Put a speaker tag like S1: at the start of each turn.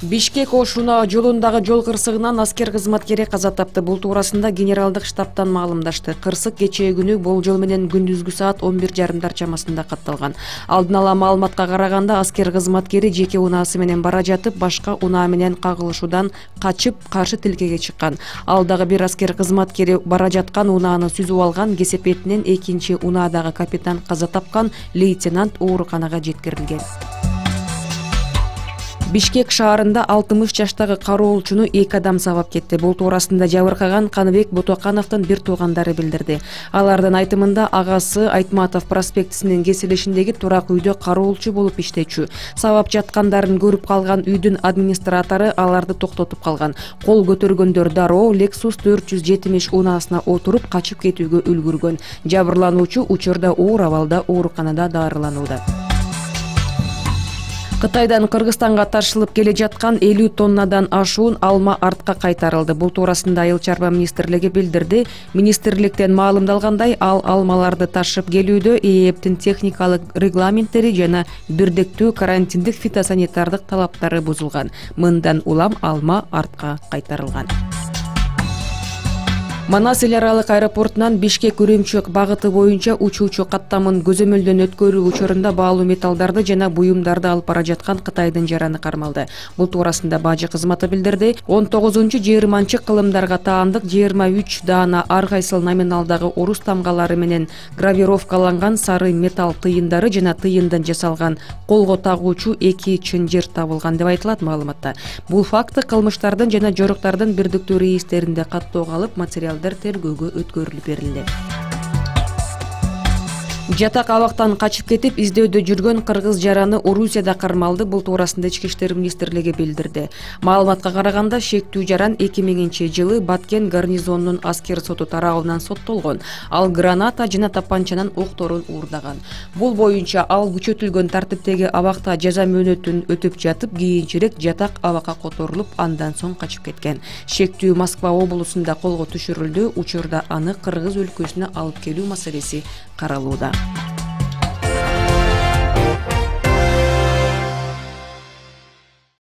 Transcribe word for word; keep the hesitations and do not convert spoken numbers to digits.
S1: Бишкек-Ош Унаа жолундагы жол кырсыгынан аскер кызматкери каза тапты. Бул туурасында генералдык штабтан маалымдашты. Кырсык кечээ күнү болжол менен күндүзгү саат он бир жарымдар чамасында катталган. Алдын ала маалыматка караганда аскер кызматкери жеке унаасы менен бара жатып, башка унаа менен кагылышуудан качып, каршы тилкеге чыккан. Ал дагы бир аскер кызматкери бара жаткан унааны сүзүп алган. Кесепетинен экинчи унаадагы капитан каза тапкан, лейтенант ооруканага жеткирилген. Бишкек шаарында алтымыш жаштагы кароолчуну эки адам сабап кетти. Бул туурасында жабыркаган Каныбек Ботокановдун бир туугандары билдирди. Алардын айтымында агасы Айтматов проспектисинин кесилишиндеги турак үйдө кароолчу болуп иштечү. Сабап жаткандарын көрүп калган үйдүн администратору аларды токтотуп калган. Кол көтөргөндөр дароо Lexus төрт жүз жетимиш унаасына отуруп качып кетүүгө үлгүргөн. Жабырлануучу учурда оор абалда ооруканада дарыланууда. Кытайдан Кыргызстанга ташылып келе жаткан элүү тоннадан ашуун алма артка кайтарылды. Бул туурасында Айыл чарба министрлиги билдирди. Министрликтен маалымдалгандай, ал алмаларды ташып келүүдө ээптин техникалык регламенттери жана бирдиктүү карантиндик фитосанитардык талаптары бузулган. Мындан улам алма артка кайтарылган. Манас эл аралык аэропортунан Бишкек Үрүмчү багыты боюнча учуучу каттамын көзөмөлдөн өткөрүү учурунда баалуу металлдарды жана буюмдарды алып бара жаткан Кытайдын жараны кармалды. Бул туурасында бажы кызматы билдирди. он тогузунчу жыйырманчы кылымдарга таандык жыйырма үч даана ар кайсыл номиналдагы орус тамгалары менен гравировкаланган сары металл тыйындары жана тыйындан жасалган колго тагуучу эки чынжыр табылган деп айтылат маалыматта. Бул факты кылмыштардын жана жоруктардын бирдиктүү рейистеринде каттоого алып, материал тергөөгө өткөрүлүп берилди. Жатак абактан качып кетип издөөдө жүргөн кыргыз жараны Орусияда кармалды. Бул туурасында Ички иштер министрлиги билдирди. Маалыматка караганда, шектүү жаран эки миңинчи жылы Баткен гарнизонунун аскер соту тарабынан соттолгон. Ал граната жана тапанчанын окторун уурдаган. Бул боюнча ал күчөтүлгөн тартиптеги абакта жаза мөөнөтүн өтүп жатып, кийинчерээк жатак абакка которулуп, андан соң качып кеткен. Шектүү Москва облусунда колго түшүрүлдү. Учурда аны Кыргыз өлкөсүнө алып келүү маселеси каралууда.